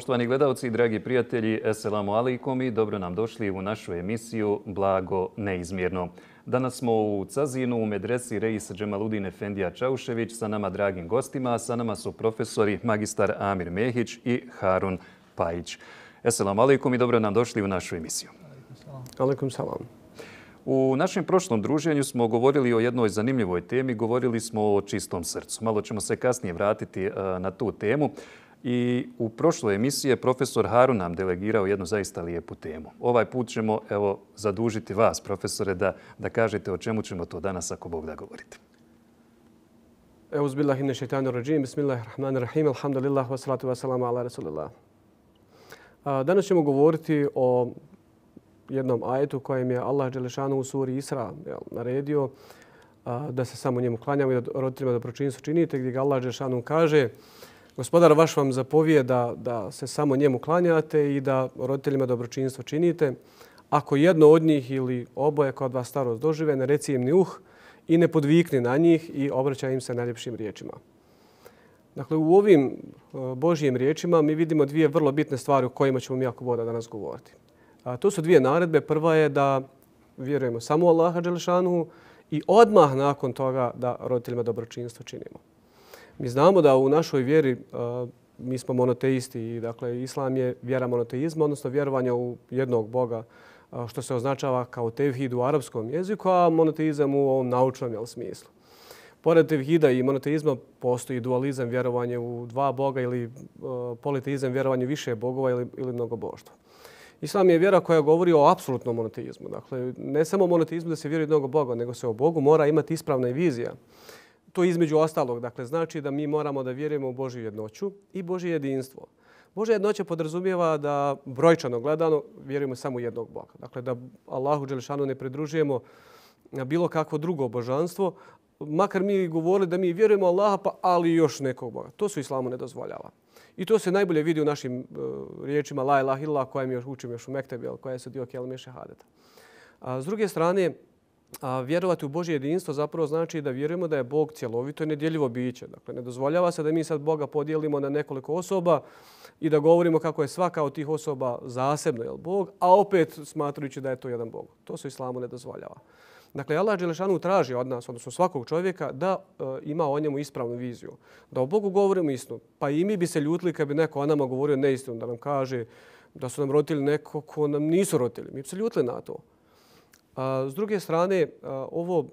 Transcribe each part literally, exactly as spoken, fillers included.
Poštovani gledalci i dragi prijatelji, eselamu alaikum i dobro nam došli u našu emisiju Blago neizmjerno. Danas smo u Cazinu u medresi Reis Džemaludin Efendija Čaušević sa nama dragim gostima, a sa nama su profesori magistar Amir Mehić i Harun Pajić. Eselamu alaikum i dobro nam došli u našu emisiju. Alaikum salam. U našem prošlom druženju smo govorili o jednoj zanimljivoj temi, govorili smo o čistom srcu. Malo ćemo se kasnije vratiti na tu temu. I u prošloj emisiji je profesor Harun nam delegirao jednu zaista lijepu temu. Ovaj put ćemo evo, zadužiti vas, profesore, da, da kažete o čemu ćemo to danas, ako Bog da govorite. Euzubillahi mine šeitanir racim, bismillahirrahmanirrahim, alhamdulillah, wassalatu wassalamu ala rasulillah. Danas ćemo govoriti o jednom ajetu kojem je Allah dželešanu u suri Isra naredio da se samo njemu klanjamo i da roditeljima dobročinstvo činite, gdje ga Allah dželešanu kaže: Gospodar vaš vam zapovijeda da se samo njemu klanjate i da roditeljima dobročinstvo činite. Ako jedno od njih ili oboje kod vas starost dožive, ne reci im ni uh i ne podvikni na njih i obraćaj im se najljepšim riječima. Dakle, u ovim Božjim riječima mi vidimo dvije vrlo bitne stvari o kojima ćemo mi ako Boga danas govoriti. A to su dvije naredbe. Prva je da vjerujemo samo u Allaha dželešanu i odmah nakon toga da roditeljima dobročinstvo činimo. Mi znamo da u našoj vjeri uh, mi smo monoteisti i dakle islam je vjera monoteizma, odnosno vjerovanje u jednog Boga, uh, što se označava kao tevhid u arapskom jeziku, a monoteizam u ovom naučnom jel, smislu. Pored tevhida i monoteizma postoji dualizam, vjerovanje u dva Boga ili uh, politeizam, vjerovanje više bogova ili, ili mnogoboštva. Islam je vjera koja govori o apsolutnom monoteizmu. Dakle, ne samo monoteizmu da se vjeruje mnogo Boga, nego se o Bogu mora imati ispravna vizija. To između ostalog, dakle, znači da mi moramo da vjerujemo u Božju jednoću i Božje jedinstvo. Božja jednoća podrazumijeva da brojčano gledano vjerujemo samo u jednog Boga. Dakle, da Allahu dželešanu ne pridružujemo na bilo kakvo drugo božanstvo, makar mi govorili da mi vjerujemo Allaha, pa ali još nekog Boga. To su islamu ne dozvoljava. I to se najbolje vidi u našim uh, riječima la ilaha illallah, koje mi još učimo još u Mektebi, koje su dio kelime šehadeta. A s druge strane, A vjerovati u Božje jedinstvo zapravo znači da vjerujemo da je Bog cjelovito i nedjeljivo biće. Dakle, ne dozvoljava se da mi sad Boga podijelimo na nekoliko osoba i da govorimo kako je svaka od tih osoba zasebno jel, Bog, a opet smatrujući da je to jedan Bog. To se islamu ne dozvoljava. Dakle, Allah dželešanu traži od nas, odnosno svakog čovjeka, da e, ima o njemu ispravnu viziju. Da o Bogu govorimo istinu. Pa i mi bi se ljutili kad bi neko o nama govorio neistinu, da nam kaže da su nam roditelji neko ko nam nisu roditelji. Mi bi se ljutili na to. A s druge strane, ovo,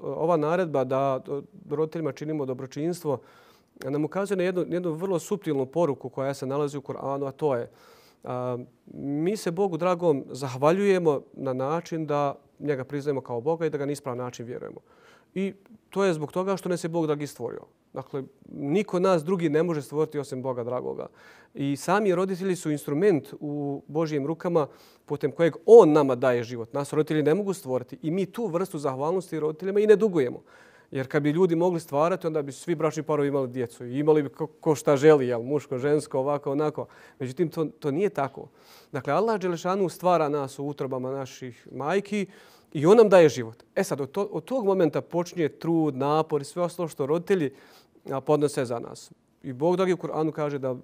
ova naredba da roditeljima činimo dobročinstvo nam ukazuje na jednu, jednu vrlo suptilnu poruku koja se nalazi u Kur'anu, a to je a, mi se Bogu dragom zahvaljujemo na način da njega priznajemo kao Boga i da ga na ispravan način vjerujemo. I to je zbog toga što nas je Bog dragi stvorio. Dakle, niko nas drugi ne može stvoriti osim Boga dragoga. I sami roditelji su instrument u Božjim rukama putem kojeg On nama daje život. Nas roditelji ne mogu stvoriti i mi tu vrstu zahvalnosti roditeljima i ne dugujemo. Jer kad bi ljudi mogli stvarati, onda bi svi bračni parovi imali djecu i imali bi ko, ko šta želi, jel, muško, žensko, ovako, onako. Međutim, to, to nije tako. Dakle, Allah dželešanu stvara nas u utrobama naših majki i On nam daje život. E sad, od, to, od tog momenta počinje trud, napor i sve ostalo što roditelji podnose za nas. I Bog dragi u Kur'anu kaže da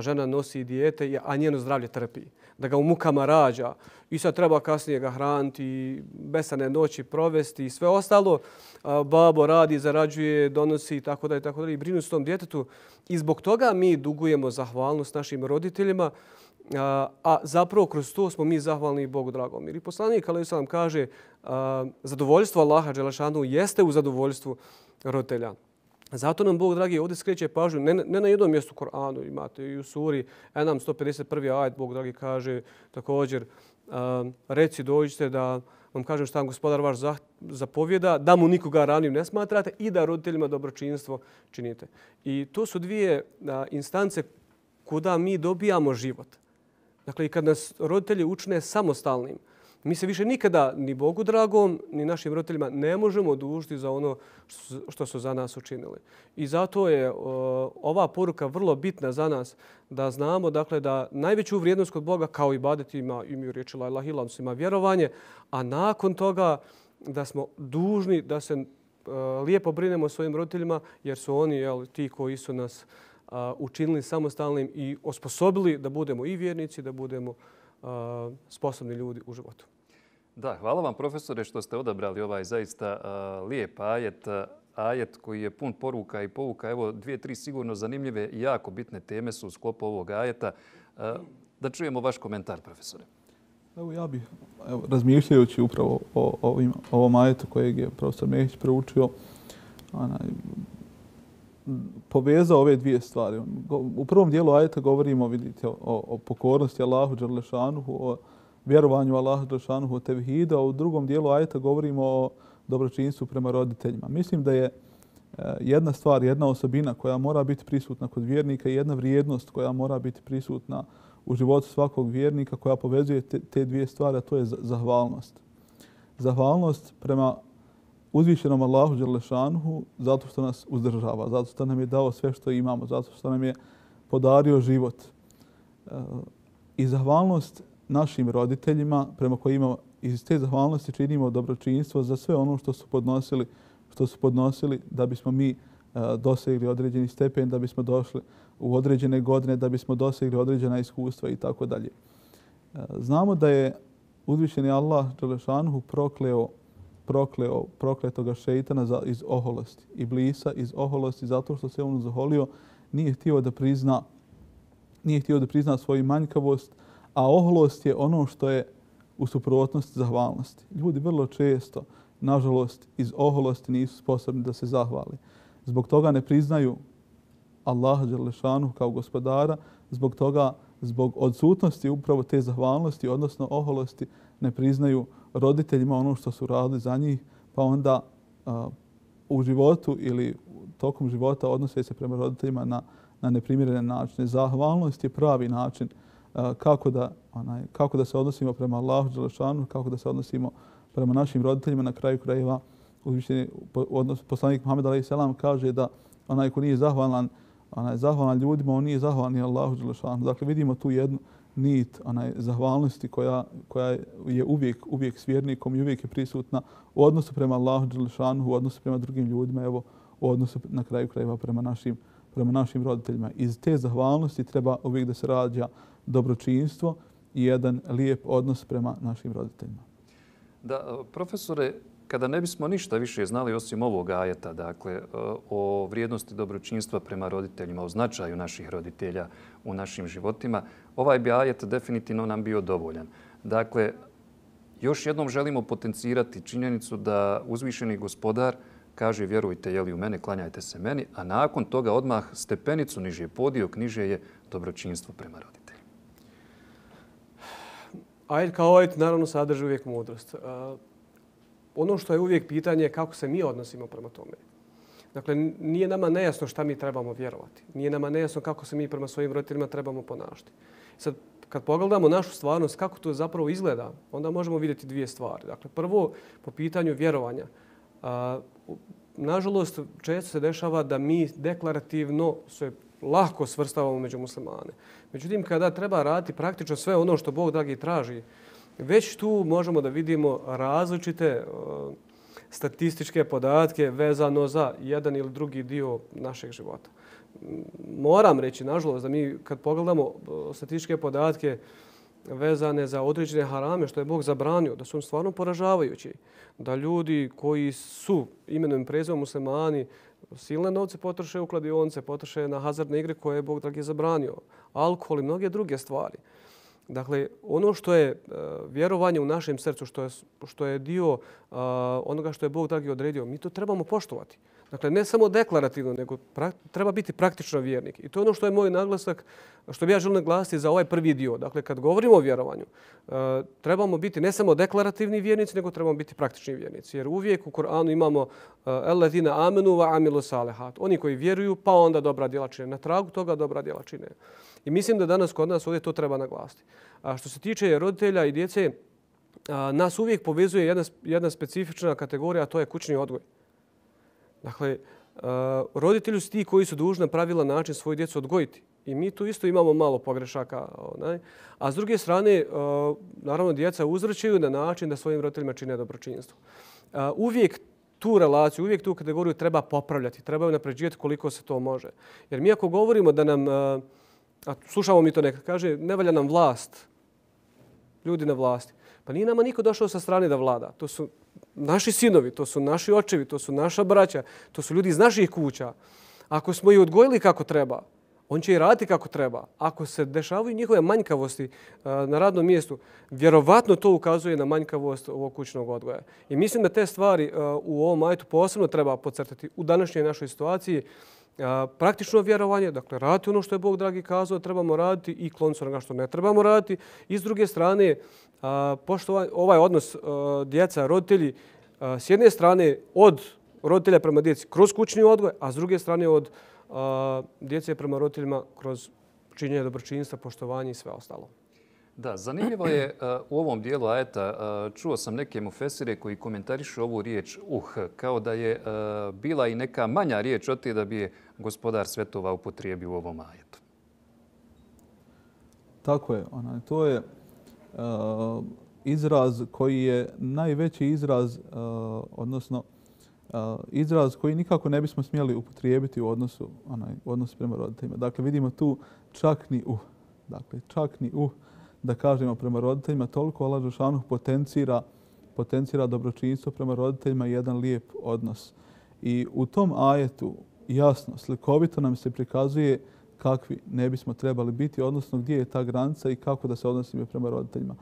žena nosi dijete, a njeno zdravlje trpi. Da ga u mukama rađa i sad treba kasnije ga hraniti, besane noći provesti i sve ostalo. Babo radi, zarađuje, donosi i tako da i tako da i brinu s tom djetetu. I zbog toga mi dugujemo zahvalnost našim roditeljima, a, a zapravo kroz to smo mi zahvalni Bogu dragom. Jer i poslanik alejhi selam kaže a, zadovoljstvo Allaha dželešanu jeste u zadovoljstvu roditelja. Zato nam Bog dragi ovdje skreće pažnju, ne, ne na jednom mjestu u Kur'anu, imate i u suri Enam sto pedeset prvi ajet, Bog dragi kaže također uh, reci dođite da vam kažem šta vam gospodar vaš zapovjeda, da mu nikoga ranim ne smatrate i da roditeljima dobročinstvo činite. I to su dvije uh, instance kuda mi dobijamo život. Dakle, i kad nas roditelji učine samostalnim, mi se više nikada ni Bogu dragom, ni našim roditeljima ne možemo odužiti za ono što su za nas učinili. I zato je uh, ova poruka vrlo bitna za nas da znamo dakle, da najveću vrijednost kod Boga kao ibadet ima, imaju riječi la ilaha illallah, ima vjerovanje, a nakon toga da smo dužni da se uh, lijepo brinemo o svojim roditeljima jer su oni jel, ti koji su nas učinili samostalnim i osposobili da budemo i vjernici, da budemo sposobni ljudi u životu. Da, hvala vam profesore što ste odabrali ovaj zaista lijep ajet, ajet koji je pun poruka i pouka. Evo dvije, tri sigurno zanimljive i jako bitne teme su u sklopu ovog ajeta. Da čujemo vaš komentar, profesore. Evo ja bih, evo, razmišljajući upravo o ovim, ovom ajetu kojeg je profesor Mehić proučio, onaj, povezao ove dvije stvari. U prvom dijelu ajeta govorimo, vidite, o, o pokornosti Allahu dželešanuhu, o vjerovanju Allahu dželešanuhu, o tevhidu, a u drugom dijelu ajeta govorimo o dobročinstvu prema roditeljima. Mislim da je jedna stvar, jedna osobina koja mora biti prisutna kod vjernika i jedna vrijednost koja mora biti prisutna u životu svakog vjernika koja povezuje te, te dvije stvari, a to je zahvalnost. Zahvalnost prema uzvišenom Allahu dželešanuhu zato što nas uzdržava, zato što nam je dao sve što imamo, zato što nam je podario život. I zahvalnost našim roditeljima prema kojima iz te zahvalnosti činimo dobročinstvo za sve ono što su podnosili, što su podnosili da bismo mi dosegli određeni stepen, da bismo došli u određene godine, da bismo dosegli određena iskustva i tako dalje. Znamo da je uzvišeni Allah dželešanuhu prokleo prokleo prokletoga šeitana za, iz oholosti, Iblisa iz oholosti zato što se on zaholio, nije htio da prizna nije htio da prizna svoju manjkavost, a oholost je ono što je u suprotnosti zahvalnosti. Ljudi vrlo često, nažalost, iz oholosti nisu sposobni da se zahvali. Zbog toga ne priznaju Allaha dželešanu kao gospodara, zbog toga, zbog odsutnosti upravo te zahvalnosti, odnosno oholosti, ne priznaju roditeljima ono što su radili za njih, pa onda a, u životu ili tokom života odnose se prema roditeljima na, na neprimjerene načine. Zahvalnost je pravi način a, kako, da, onaj, kako da se odnosimo prema Allahu dželešanu, kako da se odnosimo prema našim roditeljima. Na kraju krajeva uzvišeni odnos poslanik Muhammed alejhi selam kaže da onaj ko nije zahvalan, onaj zahvalan ljudima, on nije zahvalan ni Allahu dželešanu. Dakle vidimo tu jednu nit onaj zahvalnosti koja koja je uvijek uvijek s vjernikom i uvijek je prisutna u odnosu prema Allahu dželešanu, u odnosu prema drugim ljudima, evo u odnosu na kraju krajeva prema našim prema našim roditeljima. Iz te zahvalnosti treba uvijek da se rađa dobročinstvo i jedan lijep odnos prema našim roditeljima. Da, profesore, kada ne bismo ništa više znali osim ovog ajeta, dakle, o vrijednosti dobročinstva prema roditeljima, o značaju naših roditelja u našim životima, ovaj bi ajet definitivno nam bio dovoljan. Dakle, još jednom želimo potencirati činjenicu da uzvišeni gospodar kaže vjerujte jeli u mene, klanjajte se meni, a nakon toga odmah stepenicu niže, podio niže je dobročinstvo prema roditeljima. Ajet kao ajet naravno sadrži uvijek mudrost. Ono što je uvijek pitanje je kako se mi odnosimo prema tome. Dakle, nije nama nejasno šta mi trebamo vjerovati. Nije nama nejasno kako se mi prema svojim roditeljima trebamo ponašati. Sad, kad pogledamo našu stvarnost, kako to zapravo izgleda, onda možemo vidjeti dvije stvari. Dakle, prvo, po pitanju vjerovanja. A, nažalost, često se dešava da mi deklarativno se lako svrstavamo među muslimane. Međutim, kada treba raditi praktično sve ono što Bog dragi traži, već tu možemo da vidimo različite uh, statističke podatke vezano za jedan ili drugi dio našeg života. Moram reći, nažalost, da mi kad pogledamo statističke podatke vezane za određene harame što je Bog zabranio, da su on stvarno poražavajući. Da ljudi koji su imenom i prezimenom muslimani silne novce potroše u kladionce, potroše na hazardne igre koje je Bog dragi zabranio. Alkohol i mnoge druge stvari. Dakle, ono što je uh, vjerovanje u našem srcu, što je, što je dio uh, onoga što je Bog dragi odredio, mi to trebamo poštovati. Dakle, ne samo deklarativno, nego pra, treba biti praktično vjernik. I to je ono što je moj naglasak, što bi ja želim naglasiti za ovaj prvi dio. Dakle, kad govorimo o vjerovanju, uh, trebamo biti ne samo deklarativni vjernici, nego trebamo biti praktični vjernici. Jer uvijek u Koranu imamo uh, Allatina amenu wa amilu salihat. Oni koji vjeruju, pa onda dobra djela čine. Na tragu toga dobra djela čine. I mislim da danas kod nas ovdje to treba naglasiti. A što se tiče roditelja i djece, a, nas uvijek povezuje jedna, jedna specifična kategorija, a to je kućni odgoj. Dakle, a, roditelji su ti koji su dužni na pravilan način svoju djecu odgojiti. I mi tu isto imamo malo pogrešaka. Onaj. A s druge strane, a, naravno, djeca uzvrćaju na način da svojim roditeljima čine dobročinstvo. A, uvijek tu relaciju, uvijek tu kategoriju treba popravljati, treba napređivati koliko se to može. Jer mi ako govorimo da nam, a slušamo mi to nekad, kaže ne valja nam vlast, ljudi na vlasti. Pa nije nama niko došao sa strane da vlada. To su naši sinovi, to su naši očevi, to su naša braća, to su ljudi iz naših kuća. Ako smo ih odgojili kako treba, on će i raditi kako treba. Ako se dešavaju njihove manjkavosti na radnom mjestu, vjerovatno to ukazuje na manjkavost ovog kućnog odgoja. I mislim da te stvari u ovom ajetu posebno treba podcrtati u današnjoj našoj situaciji. Praktično vjerovanje, dakle raditi ono što je Bog dragi kazao, trebamo raditi i kloniti se onoga što ne trebamo raditi. I s druge strane, pošto ovaj odnos djeca, roditelji, s jedne strane od roditelja prema djeci kroz kućni odgoj, a s druge strane od djece prema roditeljima kroz činjenje dobročinstva, poštovanje i sve ostalo. Da, zanimljivo je u ovom dijelu ajeta, čuo sam neke mufesire koji komentarišu ovu riječ uh, kao da je bila i neka manja riječ od te da bi je gospodar svjetova upotrijebio u ovom ajetu. Tako je. Onaj, to je uh, izraz koji je najveći izraz, uh, odnosno uh, izraz koji nikako ne bismo smjeli upotrijebiti u odnosu, onaj, u odnosu prema roditeljima. Dakle, vidimo tu čak ni uh. Dakle, čak ni uh. da kažemo prema roditeljima, toliko Allah dželešanu potencira, potencira dobročinstvo prema roditeljima i jedan lijep odnos. I u tom ajetu jasno, slikovito nam se prikazuje kakvi ne bismo trebali biti, odnosno gdje je ta granica i kako da se odnosimo prema roditeljima.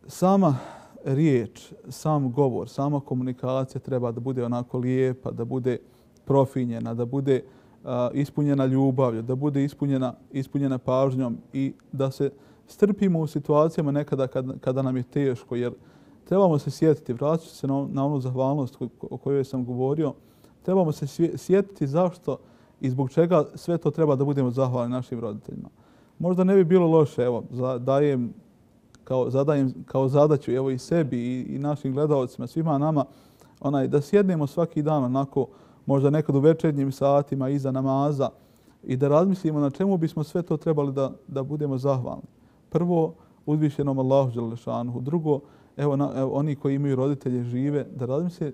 Sama riječ, sam govor, sama komunikacija treba da bude onako lijepa, da bude profinjena, da bude uh, ispunjena ljubavlju, da bude ispunjena, ispunjena pažnjom i da se strpimo u situacijama nekada kada, kada nam je teško, jer trebamo se sjetiti, vraćati se na, na onu zahvalnost o kojoj sam govorio, trebamo se sjetiti zašto i zbog čega sve to treba da budemo zahvalni našim roditeljima. Možda ne bi bilo loše, evo, dajem kao, zadajem kao zadaću evo i sebi i, i našim gledalcima, svima nama, onaj, da sjednemo svaki dan onako, možda nekad u večernjim satima iza namaza i da razmislimo na čemu bismo sve to trebali da, da budemo zahvalni. Prvo, uzvišenom Allahu dželešanuhu. Drugo, evo, na, evo oni koji imaju roditelje žive, da razmisle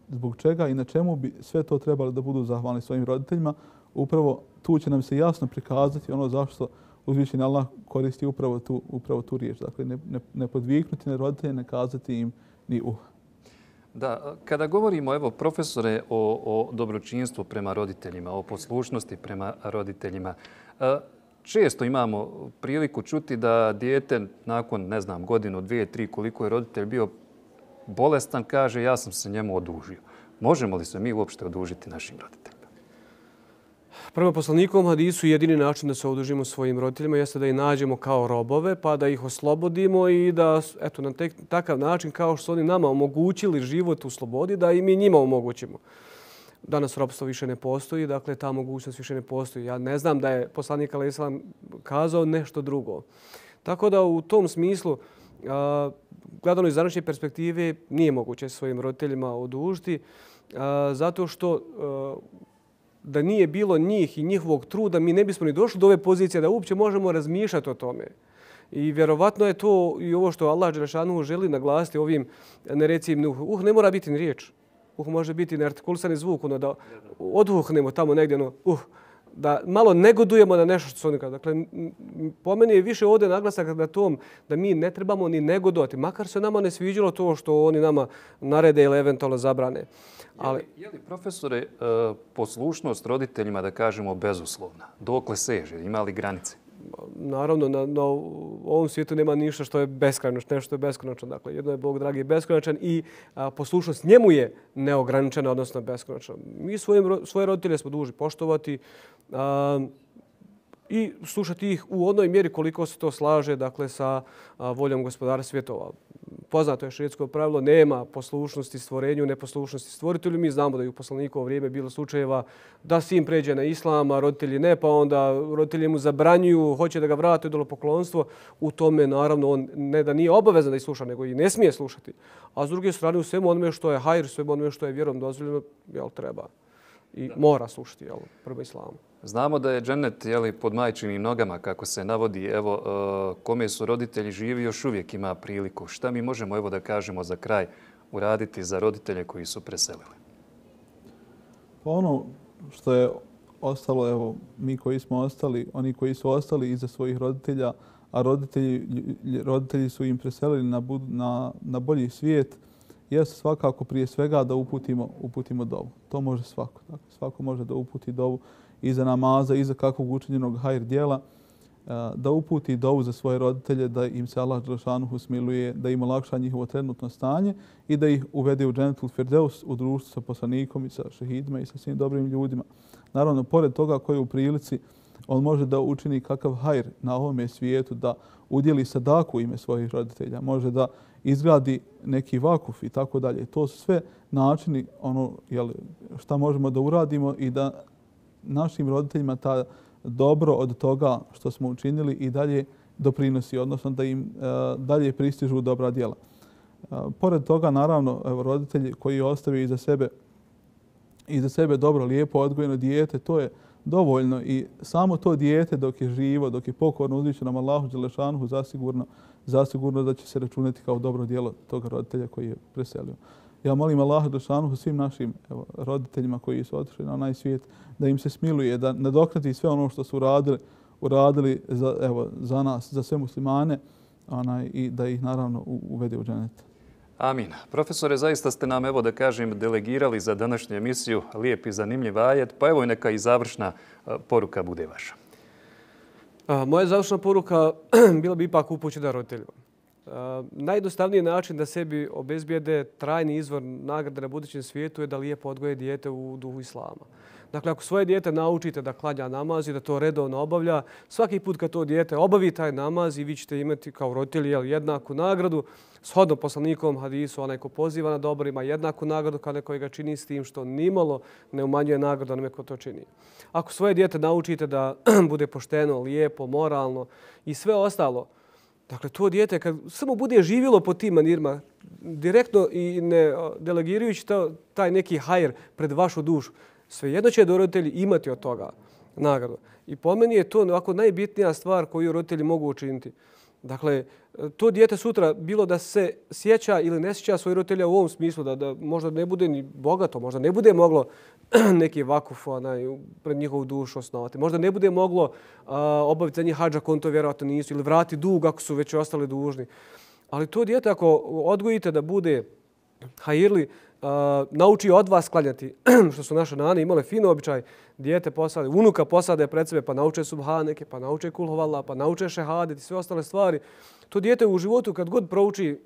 zbog čega i na čemu bi sve to trebali da budu zahvalni svojim roditeljima. Upravo tu će nam se jasno prikazati ono zašto uzvišeni Allah koristi upravo tu, upravo tu riječ. Dakle, ne, ne, ne podviknuti na roditelje, ne kazati im ni uh. Da, kada govorimo, evo, profesore, o, o dobročinstvu prema roditeljima, o poslušnosti prema roditeljima, često imamo priliku čuti da dijete nakon, ne znam, godinu, dvije, tri, koliko je roditelj bio bolestan, kaže ja sam se njemu odužio. Možemo li se mi uopšte odužiti našim roditeljima? Prema poslanikovom hadisu jedini način da se odužimo svojim roditeljima jeste da ih nađemo kao robove, pa da ih oslobodimo i da, eto, na tek, takav način kao što su oni nama omogućili život u slobodi, da i mi njima omogućimo. Danas ropstvo više ne postoji, dakle ta mogućnost više ne postoji. Ja ne znam da je poslanik alejhi selam kazao nešto drugo. Tako da u tom smislu, a, gledano iz današnje perspektive, nije moguće svojim roditeljima odužiti, a, zato što a, da nije bilo njih i njihovog truda, mi ne bismo ni došli do ove pozicije da uopće možemo razmišljati o tome. I vjerovatno je to i ovo što Allah dželešanu želi naglasiti ovim nerecim uh, uh ne mora biti ni riječ. Uh može biti neartikulisani zvuk, ono da odvuhnemo tamo negdje, ono, uh, da malo negodujemo na nešto što su oni kažu. Dakle, po meni je više ovdje naglasak na tom da mi ne trebamo ni negodovati, makar se nama ne sviđalo to što oni nama narede ili eventualno zabrane. Ali, je li, profesore, poslušnost roditeljima, da kažemo, bezuslovna? Dokle seže? Ima li granice? Naravno, na, na ovom svijetu nema ništa što je beskonačno, nešto je beskonačno. Dakle, jedno je Bog dragi beskonačan i a, poslušnost njemu je neograničena, odnosno beskonačna. Mi svojim, svoje roditelje smo dužni poštovati a, i slušati ih u onoj mjeri koliko se to slaže, dakle, sa a, voljom gospodara svjetova. Poznato je šerijetsko pravilo, nema poslušnosti stvorenju, neposlušnosti stvoritelju. Mi znamo da je u poslanikovo vrijeme bilo slučajeva da sin pređe na islam, a roditelji ne, pa onda roditelji mu zabranjuju, hoće da ga vrate u idolopoklonstvo. U tome, naravno, on ne da nije obavezan da ih sluša, nego i ne smije slušati. A s druge strane, u svemu onome što je hajr, svemu onome što je vjerom dozvoljeno, jel, treba i mora slušati, jel, prema islamu. Znamo da je džennet, jeli, pod majčinim nogama, kako se navodi. Evo, kome su roditelji živi, još uvijek ima priliku. Šta mi možemo, evo, da kažemo za kraj uraditi za roditelje koji su preselili? Pa ono što je ostalo, evo, mi koji smo ostali, oni koji su ostali iza svojih roditelja, a roditelji, roditelji su im preselili na, na, na bolji svijet, jeste svakako prije svega da uputimo, uputimo dovu. To može svako. Dakle, svako može da uputi dovu iza namaza, iza kakvog učinjenog hajr dijela, da uputi dovu za svoje roditelje, da im se Allah dželešanuhu smiluje, da im olakša njihovo trenutno stanje i da ih uvede u džennetul firdeus, u društvu sa poslanikom i sa šehidima i sa svim dobrim ljudima. Naravno, pored toga koji je u prilici, on može da učini kakav hajr na ovome svijetu, da udjeli sadaku u ime svojih roditelja, može da izgradi neki vakuf i tako dalje. To su sve načini ono, jel, šta možemo da uradimo i da našim roditeljima ta dobro od toga što smo učinili i dalje doprinosi, odnosno da im uh, dalje pristižu dobra djela. Uh, pored toga, naravno, evo, roditelji koji ostavaju iza sebe, iza sebe dobro, lijepo odgojeno dijete, to je dovoljno i samo to dijete dok je živo, dok je pokorno uzvišenom Allahu dželešanuhu, zasigurno, zasigurno da će se računati kao dobro djelo tog roditelja koji je preselio. Ja molim Allaha dželešanuhu svim našim evo, roditeljima koji su otišli na onaj svijet da im se smiluje, da nadoknadi sve ono što su uradili, uradili za, evo, za nas, za sve muslimane onaj, i da ih naravno uvede u džennet. Amin. Profesore, zaista ste nam, evo da kažem, delegirali za današnju emisiju lijep i zanimljiv ajet, pa evo i neka i završna poruka bude vaša. A, moja završna poruka bila bi ipak upućena roditeljima. Najjednostavniji način da sebi obezbijede trajni izvor nagrade na budućem svijetu je da lijepo odgoje dijete u duhu islama. Dakle, ako svoje dijete naučite da klanja namaz i da to redovno obavlja, svaki put kad to dijete obavi taj namaz i vi ćete imati kao roditelji jednaku nagradu, shodno poslanikovom hadisu, onaj ko poziva na dobro ima jednaku nagradu kao neko ga čini s tim što nimalo ne umanjuje nagradu onome ko to čini. Ako svoje dijete naučite da bude pošteno, lijepo, moralno i sve ostalo, dakle, to dijete kad samo bude živjelo po tim manirima, direktno i ne delegirajući taj neki hajr pred vašu dušu, svejedno će roditelji imati od toga nagradu. I po meni je to ovako najbitnija stvar koju roditelji mogu učiniti. Dakle, to dijete sutra, bilo da se sjeća ili ne sjeća svojih roditelja u ovom smislu, da, da možda ne bude ni bogato, možda ne bude moglo neki vakuf onaj, pred njihovu dušu osnovati, možda ne bude moglo a, obaviti za njih hadža, konto vjerovatno nisu, ili vrati dug ako su već ostali dužni. Ali to dijete ako odgojite da bude hajirli, Uh, nauči od vas klanjati, što su naše nane imale fino običaj, dijete posade, unuka posade pred sebe, pa nauče subhaneke, pa nauče kulhovala, pa nauče šehadet i sve ostale stvari. To dijete u životu kad god prouči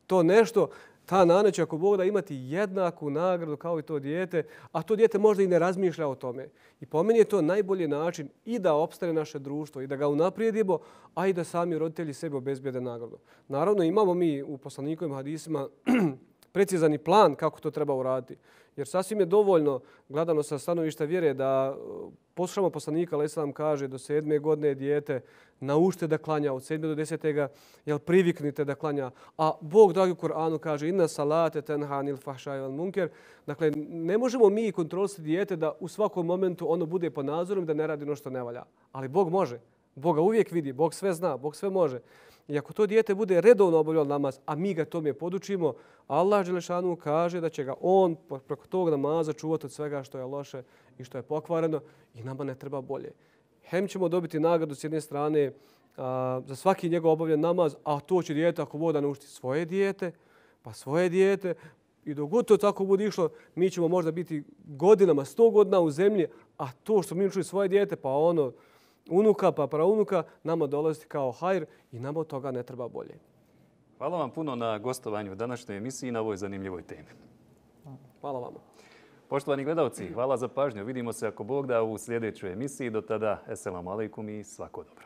to nešto, ta nana će ako Bog da imati jednaku nagradu kao i to dijete, a to dijete možda i ne razmišlja o tome. I po meni je to najbolji način i da opstane naše društvo i da ga unaprijedimo, a i da sami roditelji sebi obezbijede nagradu. Naravno, imamo mi u poslanikovim hadisima precizani plan kako to treba uraditi. Jer sasvim je dovoljno, gledano sa stanovišta vjere, da poslušamo poslanika, ali Islam kaže do sedme godine dijete naučite da klanja, od sedme do desetega jel priviknite da klanja. A Bog dragi u Kur'anu kaže inna salate tenha anil fahšaj wal munker. Dakle, ne možemo mi kontrolisati dijete da u svakom momentu ono bude pod nadzorom da ne radi ono što ne valja. Ali Bog može. Bog ga uvijek vidi, Bog sve zna, Bog sve može. I ako to dijete bude redovno obavljalo namaz, a mi ga tome podučimo, Allah dželešanu kaže da će ga on preko tog namaza čuvati od svega što je loše i što je pokvareno i nama ne treba bolje. Hem ćemo dobiti nagradu s jedne strane a, za svaki njegov obavljen namaz, a to će dijete ako voda naučiti svoje dijete, pa svoje dijete i dok god to tako bude išlo, mi ćemo možda biti godinama, sto godina u zemlji, a to što mi učili svoje dijete, pa ono, unuka pa praunuka, nama dolazi kao hajr i nama od toga ne treba bolje. Hvala vam puno na gostovanju u današnjoj emisiji i na ovoj zanimljivoj temi. Hvala vama. Poštovani gledalci, hvala za pažnju. Vidimo se ako Bog da u sljedećoj emisiji. Do tada, eselamu alejkum i svako dobro.